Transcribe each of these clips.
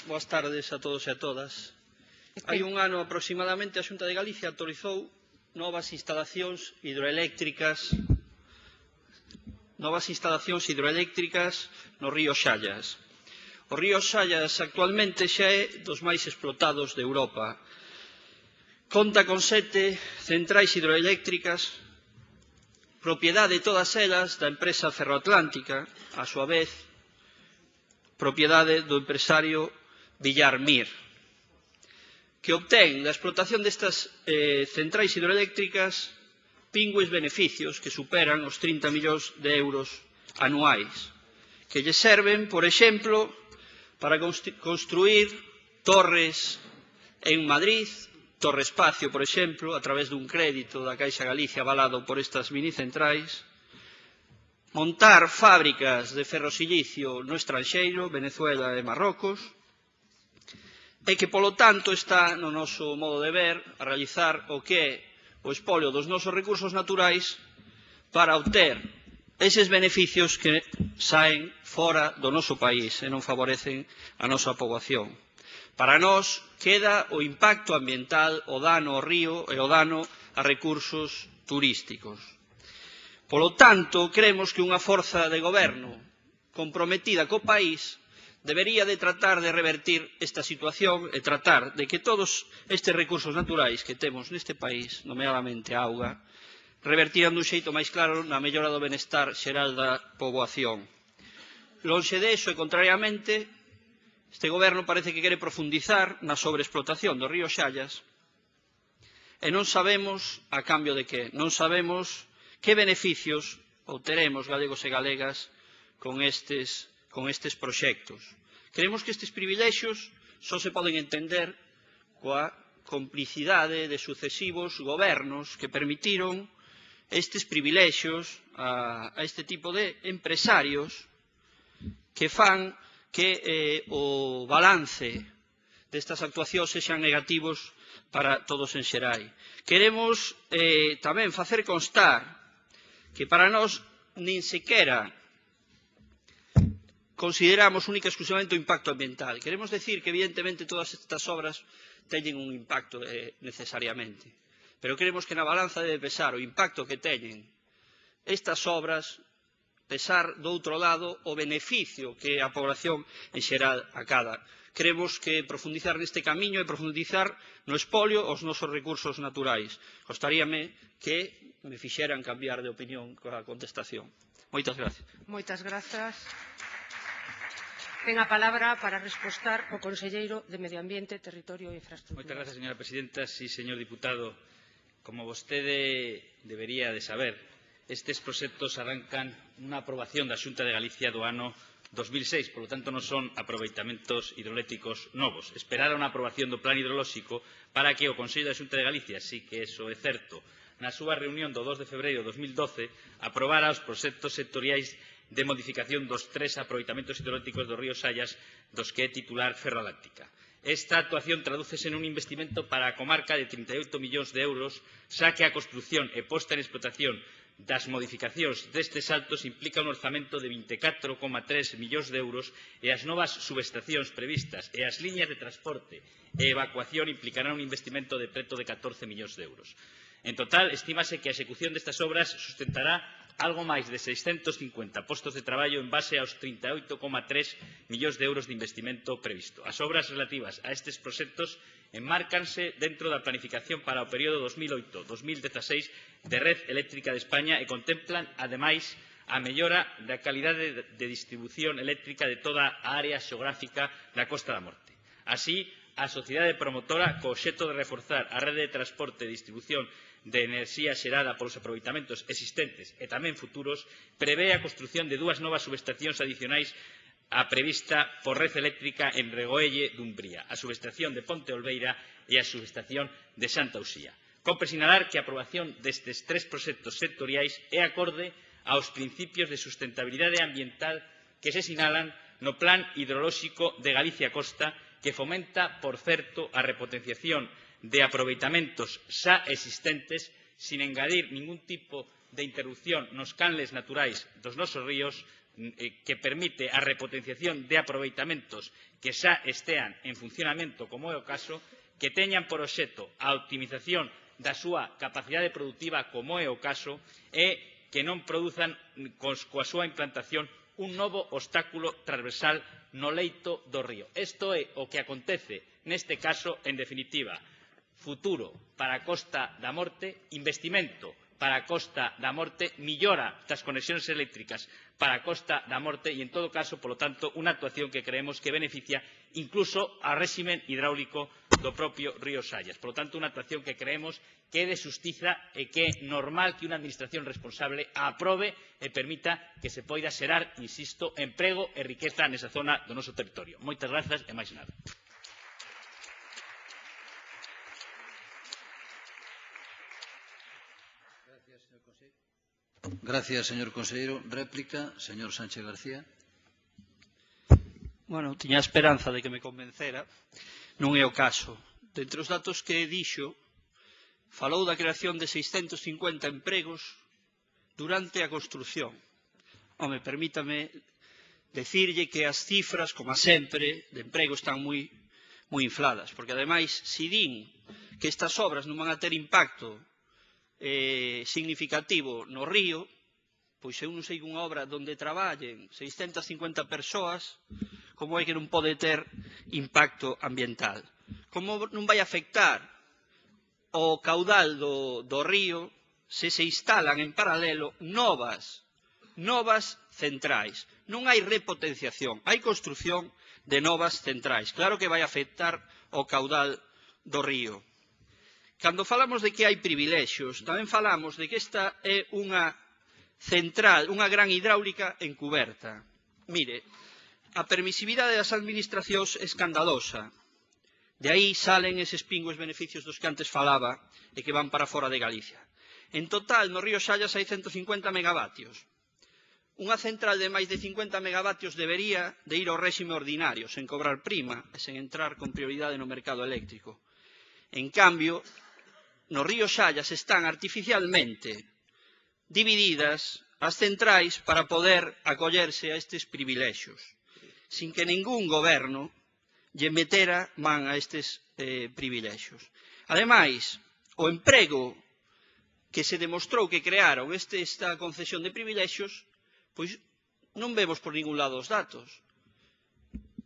boas tardes a todos e a todas. Hai un ano aproximadamente a Xunta de Galicia autorizou novas instalacións hidroeléctricas no río Xallas. O río Xallas actualmente xa é dos máis explotados de Europa. Conta con 7 centrais hidroeléctricas, propiedade todas elas da empresa Ferroatlántica, a súa vez, propiedade do empresario Villar Mir, que obtén da explotación destas centrais hidroeléctricas pingües beneficios que superan os 30 millóns de euros anuais, que lle serven, por exemplo, para construir torres en Madrid, Torre Espacio, por exemplo, a través dun crédito da Caixa Galicia avalado por estas minicentrais, montar fábricas de ferrosilicio no estranxeiro, Venezuela e Marrocos, e que, polo tanto, está no noso modo de ver a realizar o que é o espolio dos nosos recursos naturais para obter eses beneficios que saen fora do noso país e non favorecen a nosa poboación. Para nós queda o impacto ambiental, o dano ao río e o dano a recursos turísticos. Polo tanto, cremos que unha forza de goberno comprometida co país debería de tratar de revertir esta situación e tratar de que todos estes recursos naturais que temos neste país, nomeadamente a auga, revertiran dun xeito máis claro na mellora do benestar xeral da poboación. Lonxe de iso e contrariamente, este goberno parece que quere profundizar na sobreexplotación do río Xallas e non sabemos a cambio de que, non sabemos que beneficios obteremos galegos e galegas con estes proxectos. Creemos que estes privilexios só se poden entender coa complicidade de sucesivos gobernos que permitiron estes privilexios a este tipo de empresarios que fan que o balance destas actuacións sexan negativos para todos en xeral. Queremos tamén facer constar que para nós nin sequera consideramos única e exclusivamente o impacto ambiental. Queremos decir que, evidentemente, todas estas obras teñen un impacto necesariamente, pero creemos que na balanza debe pesar o impacto que teñen estas obras, pesar do outro lado o beneficio que a población en xeral acada. Creemos que profundizar neste camiño e profundizar no espolio aos nosos recursos naturais. Gostaríame que me fixeran cambiar de opinión coa contestación. Moitas gracias. Moitas grazas. Ten a palabra para respostar o conselleiro de Medio Ambiente, Territorio e Infraestructuras. Moitas grazas, señora presidenta. Sí, señor diputado, como vostede debería de saber, estes proxectos arrancan unha aprobación da Xunta de Galicia do ano 2006, polo tanto non son aproveitamentos hidroeléctricos novos. Esperar a unha aprobación do plan hidrolóxico para que o Consello da Xunta de Galicia, sí que eso é certo, na súa reunión do 2 de febreiro de 2012, aprobara os proxectos sectoriais de modificación dos 3 aproveitamentos hidroeléctricos do río Xallas, dos que é titular Ferroatlántica. Esta actuación tradúcese nun investimento para a comarca de 38 millóns de euros, xa que a construción e posta en explotación das modificacións destes saltos implica un orzamento de 24,3 millóns de euros e as novas subestacións previstas e as liñas de transporte e evacuación implicarán un investimento de preto de 14 millóns de euros. En total, estímase que a execución destas obras sustentará algo máis de 650 postos de traballo en base aos 38,3 millóns de euros de investimento previsto. As obras relativas a estes proxectos enmárcanse dentro da planificación para o período 2008-2016 de Red Eléctrica de España e contemplan, ademais, a mellora da calidade de distribución eléctrica de toda a área xeográfica da Costa da Morte. Así, a sociedade promotora, co obxecto de reforzar a rede de transporte e distribución de enerxía xerada polos aproveitamentos existentes e tamén futuros, prevé a construción de 2 novas subestacións adicionais á prevista por Red Eléctrica en Regoelle, Dumbría, a subestación de Ponte Olveira e a subestación de Santa Uxía. Cómpre sinalar que a aprobación destes 3 proxectos sectoriais é acorde aos principios de sustentabilidade ambiental que se sinalan no Plan Hidrolóxico de Galicia Costa, que fomenta, por certo, a repotenciación de aproveitamentos xa existentes sin engadir ningún tipo de interrupción nos canles naturais dos nosos ríos que permite a repotenciación de aproveitamentos que xa estean en funcionamento, como é o caso, que teñan por obxecto a optimización da súa capacidade produtiva, como é o caso, e que non produzan coa súa implantación un novo obstáculo transversal no leito do río. Isto é o que acontece neste caso, en definitiva, futuro para a Costa da Morte, investimento para a Costa da Morte, millora das conexións eléctricas para a Costa da Morte e, en todo caso, polo tanto, unha actuación que creemos que beneficia incluso ao réximen hidráulico do propio río Sallas. Por lo tanto, unha actuación que creemos que é de xustiza e que é normal que unha administración responsable a aprobe e permita que se poida xerar, insisto, emprego e riqueza nesa zona do noso territorio. Moitas grazas e máis nada. Gracias, señor conselleiro. Réplica, señor Sánchez García. Bueno, tiña a esperanza de que me convencera. Non é o caso. Dentre os datos que dixo, falou da creación de 650 empregos durante a construción. Home, permítame decirlle que as cifras, como sempre, de emprego están moi infladas, porque ademais, se din que estas obras non van a ter impacto significativo no río, pois eu non sei unha obra onde traballen 650 persoas, como é que non pode ter impacto ambiental? Como non vai afectar o caudal do río se se instalan en paralelo novas centrais? Non hai repotenciación, hai construción de novas centrais. Claro que vai afectar o caudal do río. Cando falamos de que hai privilexios, tamén falamos de que esta é unha central, unha gran hidráulica encuberta. Mire, a permisividade das administracións é escandalosa. De aí salen eses pingües beneficios dos que antes falaba e que van para fora de Galicia. En total, no río Sallas hai 150 megavatios. Unha central de máis de 50 megavatios debería de ir ao réxime ordinario, sen cobrar prima e sen entrar con prioridade no mercado eléctrico. En cambio, no río Sallas están artificialmente divididas as centrais para poder acollerse a estes privilexios, sin que ningún goberno lle metera man a estes privilexios. Ademais, o emprego que se demostrou que crearon esta concesión de privilexios, pois non vemos por ningún lado os datos.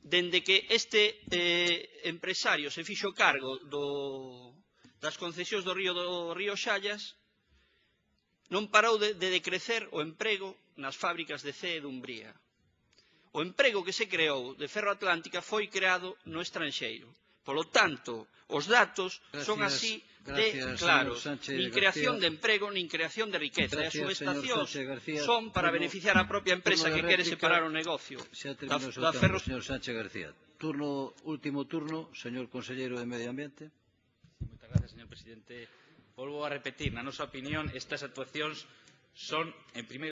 Dende que este empresario se fixo cargo das concesións do río Sallas, non parou de decrecer o emprego nas fábricas de Cee e Dumbría. O emprego que se creou de Ferro Atlántica foi creado no estranxeiro. Polo tanto, os datos son así de claros. Nin creación de emprego, nin creación de riqueza. E as subestacións son para beneficiar a propia empresa que quere separar o negocio da Ferro. Señor Sánchez García. Último turno, señor conselleiro de Medio Ambiente. Moitas gracias, señor presidente. Volvo a repetir, na nosa opinión, estas actuacións son, en primeiro